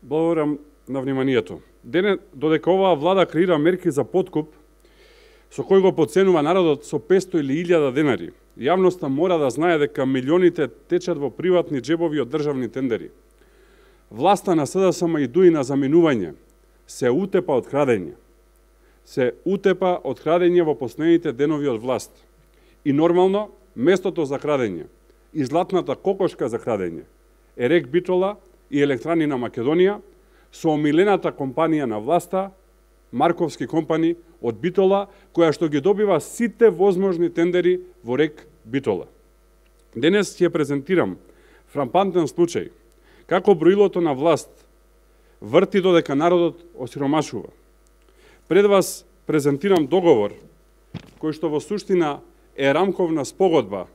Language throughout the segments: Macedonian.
Благодарам на вниманието. Додека оваа влада креира мерки за подкуп, со кој го потценува народот со 500 или 1000 денари, јавноста мора да знае дека милионите течат во приватни джебови од државни тендери. Власта на СДСМ и дуи на заминување се утепа од крадење. Се утепа од крадење во последните денови од власт. И нормално, местото за крадење и златната кокошка за крадење е РЕК Битола и Електрани на Македонија со омилената компанија на власта, Марковски компани од Битола, која што ги добива сите возможни тендери во РЕК Битола. Денес ќе презентирам фрапантен случај како броилото на власт врти додека народот осиромашува. Пред вас презентирам договор кој што во суштина е рамковна спогодба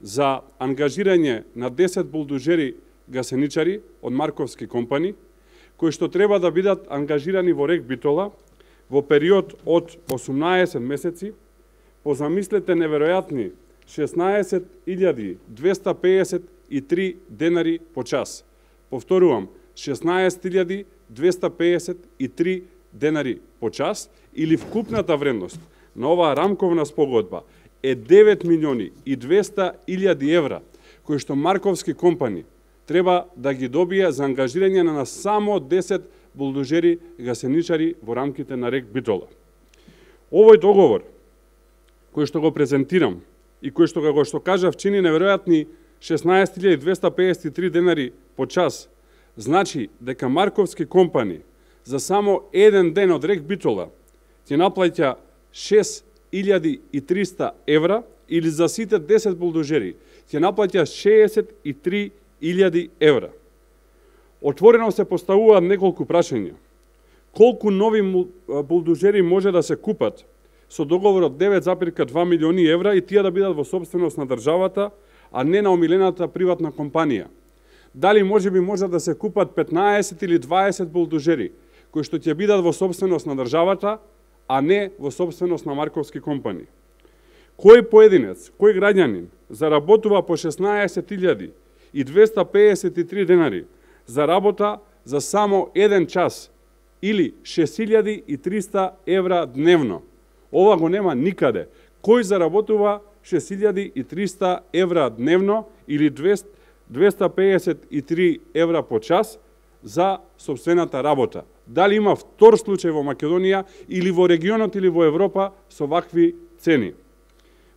за ангажирање на 10 булдужери гасеничари од Марковски компани, кои што треба да бидат ангажирани во РЕК Битола во период од 18 месеци, по замислете неверојатни 16.253 денари по час. Повторувам, 16.253 денари по час, или вкупната вредност на оваа рамковна спогодба е 9.200.000 евра, кои што Марковски компани треба да ги добие за ангажирање на само 10 булдужери гасеничари во рамките на РЕК Битола. Овој договор, кој што го презентирам и кој што го кажав чини неверојатни 16.253 денари по час, значи дека Марковски компани за само еден ден од РЕК Битола ќе наплаќа 6.300 евра, или за сите 10 булдужери ќе наплаќа 63.000 евра. Отворено се поставуваат неколку прашања. Колку нови булдужери може да се купат со договор од 9,2 милиони евра и тие да бидат во собственост на државата, а не на омилената приватна компанија? Дали може да се купат 15 или 20 булдужери кои што ќе бидат во собственост на државата, а не во собственост на Марковски компани? Кој поединец, кој граѓанин заработува по 16.253 денари за работа за само еден час или 6.300 евра дневно? Ова го нема никаде. Кој заработува 6.300 евра дневно или 253 евра по час за собствената работа? Дали има втор случај во Македонија или во регионот или во Европа со вакви цени?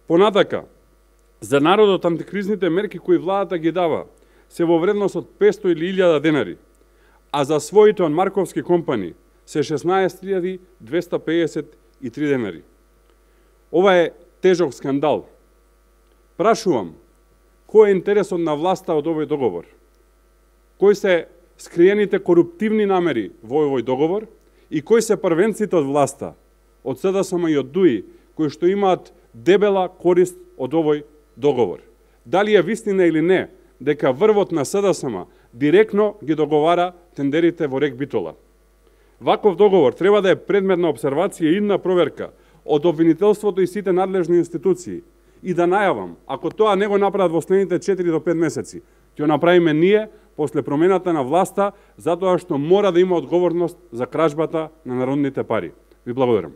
Понатака, за народот антикризните мерки кои владата ги дава се во вредност од 500 или 1000 денари, а за своите од Марковски компани се 16.253 денари. Ова е тежок скандал. Прашувам, кој е интересот на власта од овој договор? Кои се скриените коруптивни намери во овој договор и кои се првенците од власта, од СДСМ и од ДУИ, кои што имаат дебела корист од овој договор? Дали е вистина или не дека врвот на СДСМ директно ги договара тендерите во РЕК Битола? Ваков договор треба да е предмет на обсервација и на проверка од обвинителството и сите надлежни институции. И да најавам, ако тоа не го направат во следните 4 до 5 месеци, ќе направиме ние после промената на власта, затоа што мора да има одговорност за кражбата на народните пари. Ви благодарам.